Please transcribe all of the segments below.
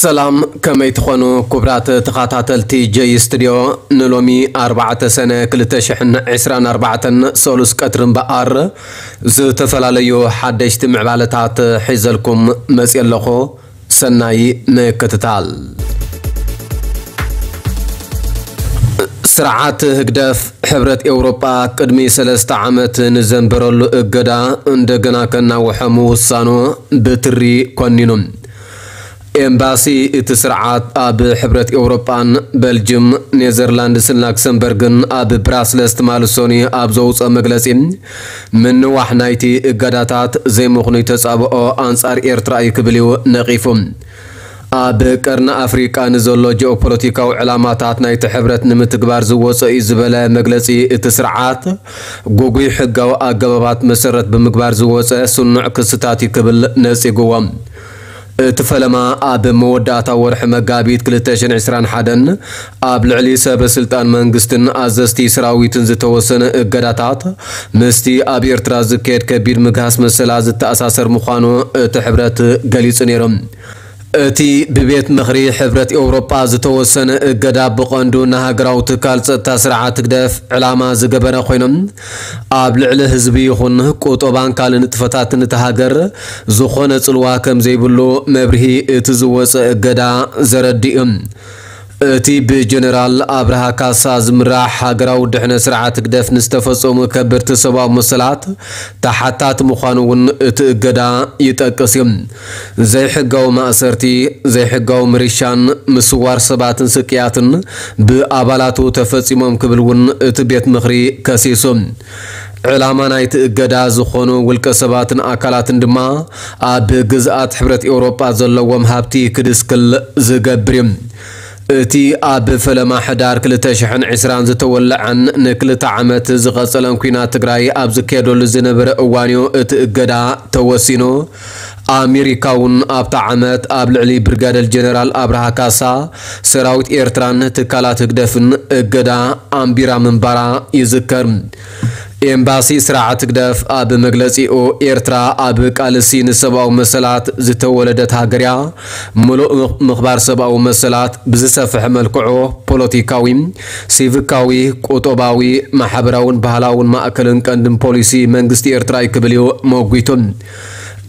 ሰላም፣ ከመይ ትኾኑ ክቡራት ተኸታተልቲ ጀይ ስቱድዮ? ንሎሚ ኣርባዕተ ሰነ ክልተ ሽሕን ዕስራን ኣርባዕተን ሰሉስ ቀትሪ እምበኣር ዝተፈላለዩ ሓደሽቲ ምዕባለታት ሒዘልኩም መፅየ ኣለኹ። ሰናይ ምክትታል። ስርዓት ህግደፍ ሕብረት ኤውሮጳ ቅድሚ ሰለስተ ዓመት ንዘንበረሉ እገዳ እንደገና ከናውሖ ምውሳኑ ብትሪ ኮኒኑ። ኤምባሲ እቲ ስርዓት ኣብ ሕብረት ኤውሮጳን በልጅም፣ ኔዘርላንድስን ላክሰምበርግን ኣብ ብራስለስ ትማሊ ሰኑይ ኣብ ዘውፅኦ መግለፂ፣ ምንዋሕ ናይቲ እገዳታት ዘይምኽኑይ ተጻብኦ ኣንጻር ኤርትራ እዩ ክብል እዩ ነቒፉ። ኣብ ቀርኒ ኣፍሪቃ ንዘሎ ጂኦፖለቲካዊ ዕላማታት ናይቲ ሕብረት ንምትግባር ዝወጸ እዩ ዝበለ መግለጺ እቲ ስርዓት፣ ጉጉይ ሕጋዊ ኣገባባት መሰረት ብምግባር ዝወጸ ስኑዕ ክስታት እዩ ክብል ነጺግዎ። እቲ ፈለማ ኣብ መወዳእታ ወርሒ መጋቢት ክልተ ሽሕን ዕስራን ሓደን ኣብ ልዕሊ ሰበ ስልጣን መንግስትን ኣዘዝቲ ሰራዊትን ዝተወሰነ እገዳታት ምስቲ ኣብ ኤርትራ ዝካየድ ከቢድ ምግሃስ መሰላት ዝተኣሳሰር ምዃኑ እቲ ሕብረት ገሊጹ ነይሩ። እቲ ብቤት ምኽሪ ሕብረት ኤውሮጳ ዝተወሰነ እገዳ ብቐንዱ ንሃገራዊ ትካል ጸጥታ ስርዓት ህግደፍ ዕላማ ዝገበረ ኮይኑ፣ ኣብ ልዕሊ ህዝቢ ይኹን ቁጠባን ካልእ ንጥፈታትን እታ ሃገር ዝኾነ ጽልዋ ከም ዘይብሉ መብርሂ እቲ ዝወጸ እገዳ ዘረድእ እዩ። እቲ ብጀነራል ኣብርሃ ካሳ ዝምራሕ ሃገራዊ ድሕነት ስርዓት ህግደፍ ንዝተፈጸሙ ከበድቲ ሰብኣዊ መሰላት ተሓታቲ ምዃኑ እውን እቲ እገዳ ይጠቅስ እዩ። ዘይሕጋዊ ማእሰርቲ፣ ዘይሕጋዊ ምርሻን ምስዋር ሰባትን ስቅያትን ብኣባላቱ ተፈጺሞም ክብል እውን እቲ ቤት ምኽሪ ከሲሱ። ዕላማ ናይቲ እገዳ ዝኾኑ ውልቀ ሰባትን ኣካላትን ድማ ኣብ ግዝኣት ሕብረት ኤውሮጳ ዘለዎም ሃብቲ ክድስክል ዝገብር እዩ። እቲ ኣብ ፈለማ ሕዳር ክልተ ሽሕን ዕስራን ዝተወለዐን ንክልተ ዓመት ዝቐጸለን ኲናት ትግራይ ኣብ ዝካየደሉ ዝነበረ እዋን እዩ እቲ እገዳ ተወሲኑ። ኣሜሪካ እውን ኣብታ ዓመት ኣብ ልዕሊ ብርጋደር ጀነራል ኣብርሃ ካሳ ሰራዊት ኤርትራን ትካላት ህግደፍን እገዳ ኣንቢራ ምንባራ ይዝከር። ኤምባሲ ስርዓት ህግደፍ ኣብ መግለጺኡ፣ ኤርትራ ኣብ ቃልሲ ንሰብኣዊ መሰላት ዝተወለደት ሃገር እያ። ምሉእ ምኽ-፣ ምኽባር ሰብኣዊ መሰላት ብዝሰፍሐ መልክዑ ፖለቲካዊ፣ ሲቪካዊ፣ ቁጠባዊ፣ ማሕበራውን ባህላውን ማእከልን ቀንድን ፖሊሲ መንግስቲ ኤርትራ እዩ ክብል እዩ መጒቱ።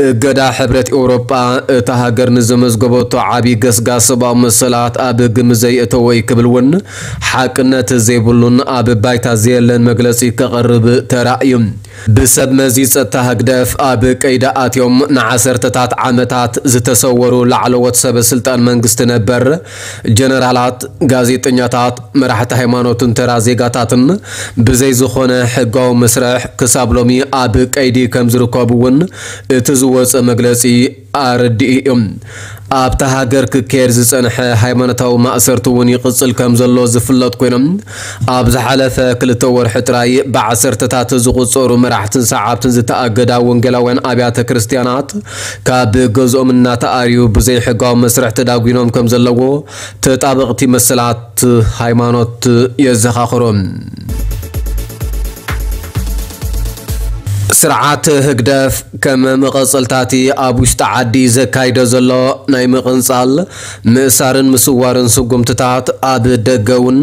እገዳ ሕብረት ኤውሮጳ እታ ሃገር ንዘመዝገበቶ ዓቢ ገስጋስ ሰብኣዊ መሰላት ኣብ ግምት ዘየእተወ እዩ ክብል እውን ሓቅነት ዘይብሉን ኣብ ባይታ ዘየለን መግለጺ ከቕርብ ተራእዩ። ብሰብ መዚ ጸጥታ ህግደፍ ኣብ ቀይዲ ኣትዮም ንዓሰርተታት ዓመታት ዝተሰወሩ ላዕለዎት ሰበ ስልጣን መንግስቲ ነበር፣ ጀነራላት፣ ጋዜጠኛታት፣ መራሕቲ ሃይማኖትን ተራ ዜጋታትን ብዘይ ዝኾነ ሕጋዊ መስርሕ ክሳብ ሎሚ ኣብ ቀይዲ ከም ዝርከቡ እውን እቲ ዝወጸ መግለጺ ኣረዲኡ እዩ። ኣብታ ሃገር ክካየድ ዝጸንሐ ሃይማኖታዊ ማእሰርቲ እውን ይቕጽል ከም ዘሎ ዝፍለጥ ኮይኖም፣ ኣብ ዝሓለፈ ክልተ ወርሒ ጥራይ ብዓሰርተታት ዝቑጸሩ መራሕትን ሰዓብትን ዝተኣገዳ ወንጌላውያን ኣብያተ ክርስትያናት ካብ ገዝኦም እናተኣርዩ ብዘይሕጋዊ መስርሕ ተዳጒኖም ከም ዘለዉ ተጣበቕቲ መሰላት ሃይማኖት የዘኻኽሩ። ስርዓት ህግደፍ ከም መቐጸልታቲ ኣብ ውሽጢ ዓዲ ዘካይዶ ዘሎ ናይ ምቕንጻል፣ ምእሳርን ምስዋርን ስጉምትታት ኣብ ደገ እውን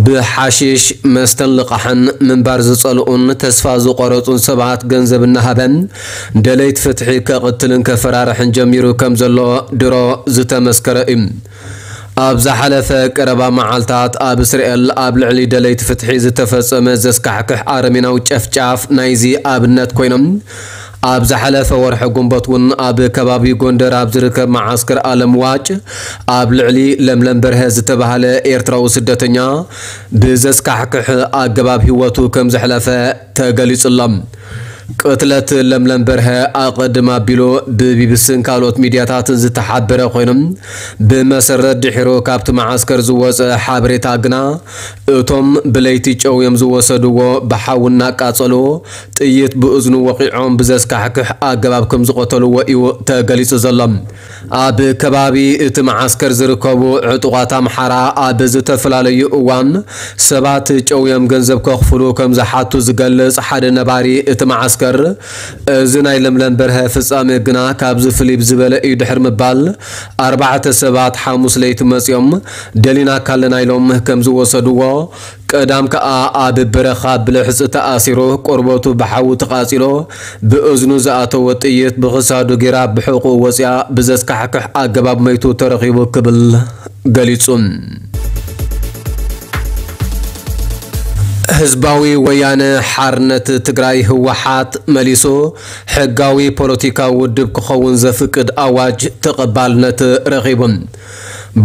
ብሓሽሽ መስተን ልቓሕን ምንባር ዝጸልኡን ተስፋ ዝቖረጹን ሰባት ገንዘብ እናሃበ ደለይቲ ፍትሒ ከቕትልን ከፈራርሕን ጀሚሩ ከም ዘሎ ድሮ ዝተመስከረ እዩ። ኣብ ዝሓለፈ ቀረባ መዓልታት ኣብ እስራኤል ኣብ ልዕሊ ደለይቲ ፍትሒ ዝተፈጸመ ዘስካሕክሕ ኣረሜናዊ ጨፍጫፍ ናይዚ ኣብነት ኮይኖም፣ ኣብ ዝሓለፈ ወርሒ ግንቦት እውን ኣብ ከባቢ ጎንደር ኣብ ዝርከብ መዓስከር ኣለም ዋጭ ኣብ ልዕሊ ለምለም በርሀ ዝተባህለ ኤርትራዊ ስደተኛ ብዘስካሕክሕ ኣገባብ ህይወቱ ከም ዘሕለፈ ተገሊጹ ኣሎ። ቅትለት ለምለም በርሀ ኣቐድም ኣቢሉ ብቢቢሲን ካልኦት ሚድያታትን ዝተሓበረ ኮይኑ፣ ብመሰረት ድሒሩ ካብቲ መዓስከር ዝወጸ ሓበሬታ ግና፣ እቶም ብለይቲ ጨውዮም ዝወሰድዎ ብሓዊ እናቃጸሉ፣ ጥይት ብእዝኑ ወቒዖም ብዘስካሕክሕ ኣገባብ ከም ዝቐተልዎ እዩ ተገሊጹ ዘሎ። ኣብ ከባቢ እቲ መዓስከር ዝርከቡ ዕጡቓት ኣምሓራ ኣብ ዝተፈላለዩ እዋን ሰባት ጨውዮም ገንዘብ ከኽፍሉ ከም ዝሓቱ ዝገልጽ ሓደ ነባሪ እቲ መዓስከር፣ ማስከር። እዚ ናይ ለምለም በርሀ ፍጻሜ ግና ካብዚ ፍልይ ዝበለ እዩ ድሕሪ ምባል፣ ኣርባዕተ ሰባት ሓሙስ ለይቲ መጺኦም ደሊናካ ኣለና ኢሎም ከም ዝወሰድዎ፣ ቀዳም ከኣ ኣብ በረኻ ብልሕጺ ተኣሲሩ፣ ቆርበቱ ብሓዊ ተቓጺሎ፣ ብእዝኑ ዝኣተወ ጥይት ብኽሳዱ ጌራ ብሕቑኡ ወጺኣ ብዘስካሕክሕ ኣገባብ መይቱ ተረኺቡ ክብል ገሊጹ። ህዝባዊ ወያነ ሓርነት ትግራይ፣ ህወሓት፣ መሊሱ ሕጋዊ ፖለቲካዊ ውድብ ክኸውን ዘፍቅድ ኣዋጅ ተቐባልነት ረኺቡ።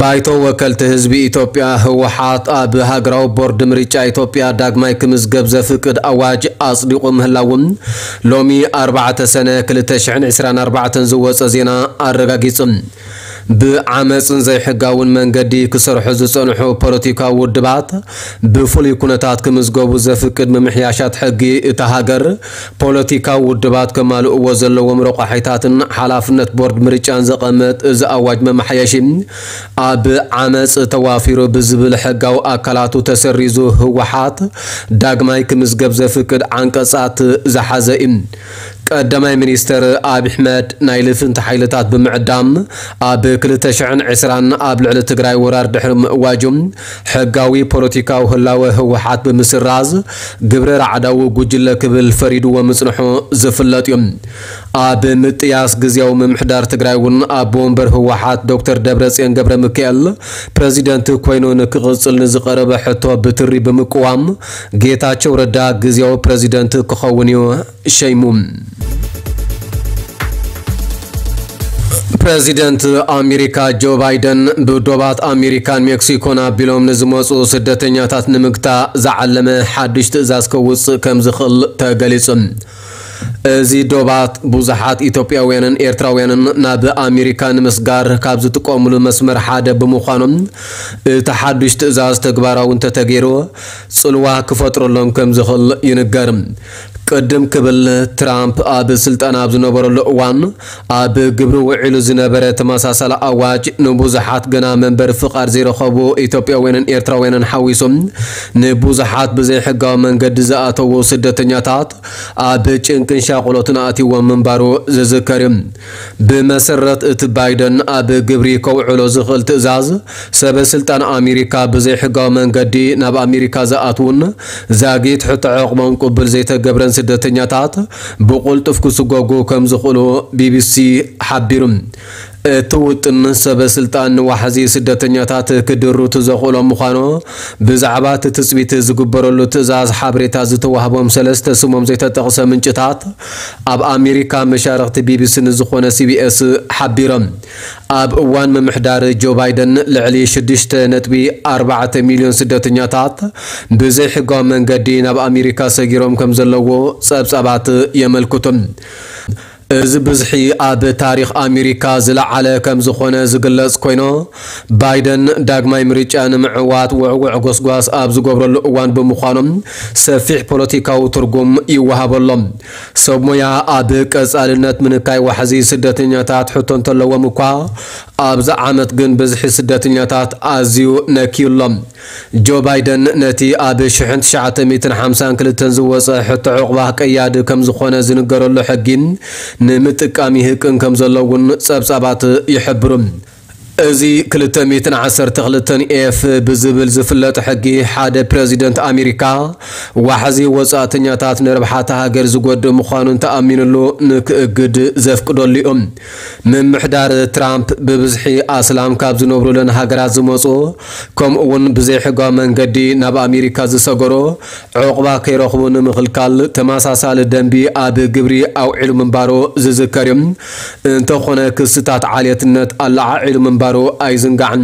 ባይቶ ወከልቲ ህዝቢ ኢትዮጵያ፣ ህወሓት፣ ኣብ ሃገራዊ ቦርድ ምርጫ ኢትዮጵያ ዳግማይ ክምዝገብ ዘፍቅድ ኣዋጅ ኣጽዲቑ ምህላዉ ሎሚ ኣርባዕተ ሰነ ክልተ ሽሕን ዕስራን ኣርባዕተን ዝወጸ ዜና ኣረጋጊጹ። ብዓመጽን ዘይሕጋውን መንገዲ ክሰርሑ ዝጸንሑ ፖለቲካዊ ውድባት ብፍሉይ ኩነታት ክምዝገቡ ዘፍቅድ ምምሕያሻት ሕጊ እታ ሃገር፣ ፖለቲካዊ ውድባት ከማልእዎ ዘለዎም ረቋሒታትን ሓላፍነት ቦርድ ምርጫን ዘቐምጥ እዚ ኣዋጅ መመሓየሺ፣ ኣብ ዓመጽ ተዋፊሩ ብዝብል ሕጋዊ ኣካላቱ ተሰሪዙ ህወሓት ዳግማይ ክምዝገብ ዘፍቅድ ዓንቀጻት ዝሓዘ እዩ። ቀዳማይ ሚኒስተር ኣብይ ኣሕመድ ናይ ልፍንቲ ሓይልታት ብምዕዳም ኣብ ክልተ ሽሕን ዕስራን ኣብ ልዕሊ ትግራይ ወራር ድሕሪ ምእዋጁ፣ ሕጋዊ ፖለቲካዊ ህላወ ህወሓት ብምስራዝ ግብረ ራዕዳዊ ጉጅለ ክብል ፈሪድዎ ምጽንሑ ዝፍለጥ እዩ። ኣብ ምጥያስ ግዝያዊ ምምሕዳር ትግራይ እውን ኣቦ ወንበር ህወሓት ዶክተር ደብረጽዮን ገብረ ሚካኤል ፕረዚደንት ኮይኑ ንክቕጽል ንዝቐረበ ሕቶ ብትሪ ብምቅዋም፣ ጌታቸው ረዳ ግዝያዊ ፕረዚደንት ክኸውን እዩ ሸይሙ። ፕረዚደንት ኣሜሪካ ጆ ባይደን ብዶባት ኣሜሪካን ሜክሲኮን ኣቢሎም ንዝመጹ ስደተኛታት ንምግታእ ዝዓለመ ሓድሽ ትእዛዝ ከውጽእ ከም ዝኽእል ተገሊጹ። እዚ ዶባት ብዙሓት ኢትዮጵያውያንን ኤርትራውያንን ናብ ኣሜሪካ ንምስጋር ካብ ዝጥቀሙሉ መስመር ሓደ ብምዃኑ፣ እቲ ሓድሽ ትእዛዝ ተግባራዊ እንተተገይሩ፣ ጽልዋ ክፈጥረሎም ከም ዝኽእል ይንገር። ቅድም ክብል ትራምፕ ኣብ ስልጣን ኣብ ዝነበረሉ እዋን፣ ኣብ ግብሪ ውዒሉ ዝነበረ ተመሳሳሊ ኣዋጅ፣ ንብዙሓት ገና መንበሪ ፍቓድ ዘይረኸቡ ኢትዮጵያውያንን ኤርትራውያንን ሓዊሱ፣ ንብዙሓት ብዘይሕጋዊ መንገዲ ዝኣተዉ ስደተኛታት ኣብ ጭንቅን ሻቕሎትን ኣእትይዎም ምንባሩ ዝዝከር እዩ። ብመሰረት እቲ ባይደን ኣብ ግብሪ ከውዕሎ ዝኽእል ትእዛዝ፣ ሰበ ስልጣን ኣሜሪካ ብዘይሕጋዊ መንገዲ ናብ ኣሜሪካ ዝኣትዉን ዛጊት ሕቶ ዕቕቦም ቅቡል ዘይተገብረን ስደተኛታት ብቕልጡፍ ክስጎጉ ከም ዝኽእሉ ቢቢሲ ሓቢሩ። እቲ ውጥን ሰበ ስልጣን ንዋሕዚ ስደተኛታት ክድርቱ ዘኽእሎም ምዃኑ ብዛዕባ እቲ ትጽቢት ዝግበረሉ ትእዛዝ ሓበሬታ ዝተዋህቦም ሰለስተ ስሞም ዘይተጠቕሰ ምንጭታት ኣብ ኣሜሪካ መሻርኽቲ ቢቢሲ ንዝኾነ ሲቢኤስ ሓቢሮም። ኣብ እዋን ምምሕዳር ጆ ባይደን ልዕሊ ሽዱሽተ ነጥቢ ኣርባዕተ ሚልዮን ስደተኛታት ብዘይሕጋዊ መንገዲ ናብ ኣሜሪካ ሰጊሮም ከም ዘለዉ ጸብጻባት የመልክቱ። እዚ ብዝሒ ኣብ ታሪኽ ኣሜሪካ ዝለዓለ ከም ዝኾነ ዝግለጽ ኮይኑ፣ ባይደን ዳግማይ ምርጫ ንምዕዋት ውዕውዕ ጎስጓስ ኣብ ዝገብረሉ እዋን ብምዃኑ፣ ሰፊሕ ፖለቲካዊ ትርጉም ይወሃበሎም። ሰብ ሞያ ኣብ ቀጻልነት ምንካይ ዋሕዚ ስደተኛታት ሕቶ እንተለዎም እኳ፣ ኣብዚ ዓመት ግን ብዝሒ ስደተኛታት ኣዝዩ ነክዩሎም። ጆ ባይደን ነቲ ኣብ ሽሕን ትሽዓተ ሚእትን ሓምሳን ክልተን ዝወጸ ሕቶ ዕቑባ ቀያዲ ከም ዝኾነ ዝንገረሉ ሕጊ ንምጥቃም ይህቅን ከም ዘሎ እውን ጸብጻባት ይሕብሩ። እዚ ክልተ ሚእትን ዓሰርተ ክልተን ኤፍ ብዝብል ዝፍለጥ ሕጊ፣ ሓደ ፕረዚደንት ኣሜሪካ ዋሕዚ ወጻእተኛታት ንረብሓ እታ ሃገር ዝጎድእ ምዃኑ እንተኣሚኑሉ ንክእግድ ዘፍቅደሉ እዩ። ምምሕዳር ትራምፕ ብብዝሒ ኣስላም ካብ ዝነብሩለን ሃገራት ዝመጹ፣ ከምኡ እውን ብዘይሕጋዊ መንገዲ ናብ ኣሜሪካ ዝሰገሩ፣ ዕቑባ ከይረኽቡ ንምኽልካል ተመሳሳሊ ደንቢ ኣብ ግብሪ ኣውዒሉ ምንባሩ ዝዝከር እዩ። እንተኾነ፣ ክስታት ዓሌትነት ኣለዓዒሉ ምንባሩ ኣይዝንጋዕን።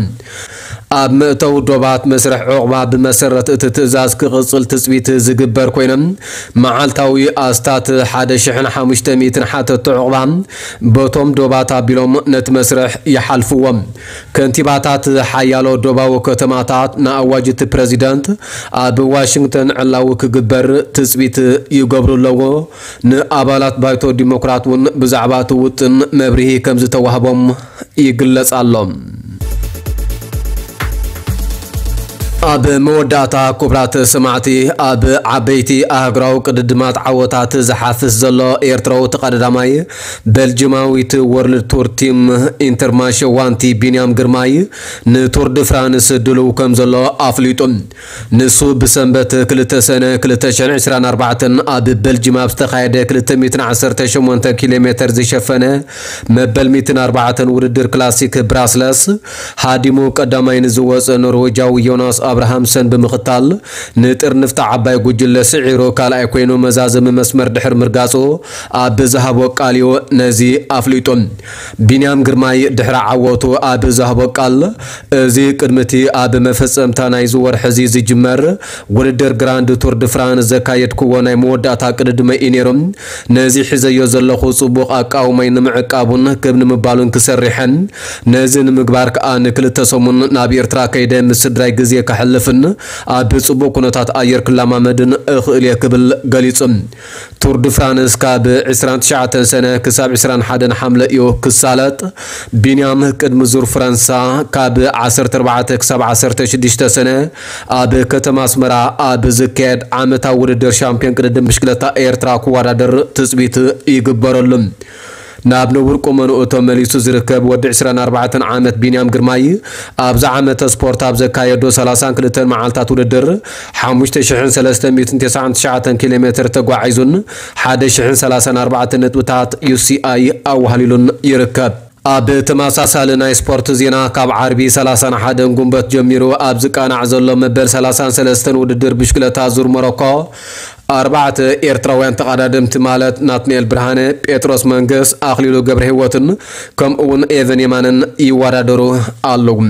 ኣብ መእተዊ ዶባት መስርሕ ዕቑባ ብመሰረት እቲ ትእዛዝ ክቕጽል ትጽቢት ዝግበር ኮይኖም፣ መዓልታዊ ኣስታት ሓደ ሽሕን ሓሙሽተ ሚእትን ሓተቲ ዕቑባ በቶም ዶባት ኣቢሎም ነቲ መስርሕ ይሓልፍዎም። ከንቲባታት ሓያሎ ዶባዊ ከተማታት ንኣዋጅ እቲ ፕረዚደንት ኣብ ዋሽንግተን ዕላዊ ክግበር ትጽቢት ይገብሩ ኣለዎ። ንኣባላት ባይቶ ዲሞክራት እውን ብዛዕባ እቲ ውጥን መብርሂ ከም ዝተዋህቦም ይግለጽ ኣሎ። ኣብ መወዳእታ፣ ክቡራት ሰማዕቲ፣ ኣብ ዓበይቲ ኣህጉራዊ ቅድድማት ዓወታት ዝሓፍስ ዘሎ ኤርትራዊ ተቐዳዳማይ፣ በልጅማዊት ወርልድ ቱር ቲም ኢንተርማርሸ ዋንቲ ቢንያም ግርማይ ንቱር ድ ፍራንስ ድሉው ከም ዘሎ ኣፍሊጡ። ንሱ ብሰንበት ክልተ ሰነ ክልተ ሽሕን ዕስራን ኣርባዕተን ኣብ በልጅም ኣብ ዝተኻየደ ክልተ ሚእትን ዓሰርተ ሸሞንተ ኪሎ ሜተር ዝሸፈነ መበል ሚእትን ኣርባዕተን ውድድር ክላሲክ ብራስለስ ሃዲሙ ቀዳማይ ንዝወጸ ኖርዌጃዊ ዮናስ ኣብርሃምሰን ብምኽታል፣ ንጥርንፍቲ ዓባይ ጉጅለ ስዒሩ ካልኣይ ኮይኑ መዛዘሚ መስመር ድሕሪ ምርጋጹ ኣብ ዝሃቦ ቃልዮ ነዚ ኣፍሊጡ። ቢንያም ግርማይ ድሕሪ ዓወቱ ኣብ ዝሃቦ ቃል፣ እዚ ቅድሚ እቲ ኣብ መፈጸምታ ናይዚ ወርሒ እዚ ዝጅመር ውድድር ግራንድ ቱር ድ ፍራንስ ዘካየድክዎ ናይ መወዳእታ ቅድድመ እዩ ነይሩ። ነዚ ሒዘዮ ዘለኹ ጽቡቕ ኣቃውማይ ንምዕቃቡን ክብ ንምባሉን ክሰርሕን፣ ነዚ ንምግባር ከኣ ንክልተ ሰሙን ናብ ኤርትራ ከይደ ምስ ስድራይ ግዜ ከሕልፍን ኣብ ጽቡቕ ኩነታት ኣየር ክለማመድን እኽእል እየ ክብል ገሊጹ። ቱር ድ ፍራንስ ካብ ዕስራን ትሽዓተን ሰነ ክሳብ ዕስራን ሓደን ሓምለ እዩ ክሳለጥ። ቢንያም ቅድሚ ዙር ፈረንሳ ካብ ዓሰርተ ኣርባዕተ ክሳብ ዓሰርተ ሽዱሽተ ሰነ ኣብ ከተማ ኣስመራ ኣብ ዝካየድ ዓመታዊ ውድድር ሻምፒዮን ቅድድም ብሽክለታ ኤርትራ ክወዳደር ትጽቢት ይግበረሉ። ናብ ንቡር ቁመንኡ ተመሊሱ ዝርከብ ወዲ ዕስራን ኣርባዕተን ዓመት ቢንያም ግርማይ፣ ኣብዚ ዓመተ ስፖርት ኣብ ዘካየዶ ሰላሳን ክልተን መዓልታት ውድድር፣ ሓሙሽተ ሽሕን ሰለስተ ሚእትን ተስዓን ትሽዓተን ኪሎ ሜትር ተጓዒዙን፣ ሓደ ሽሕን ሰላሳን ኣርባዕተን ነጥብታት ዩ ሲ ኣይ ኣዋህሊሉን ይርከብ። ኣብ ተመሳሳሊ ናይ ስፖርት ዜና፣ ካብ ዓርቢ ሰላሳን ሓደን ጉንበት ጀሚሩ ኣብ ዝቃናዕ ዘሎ መበል ሰላሳን ሰለስተን ውድድር ብሽክለታ ዙር ሞሮኮ፣ ኣርባዕተ ኤርትራውያን ተቐዳደምቲ ማለት ናትናኤል ብርሃነ፣ ጴጥሮስ መንገስ፣ ኣኽሊሉ ገብረህይወትን ከምኡ እውን ኤቨን የማነን ይወዳደሩ ኣለዉ።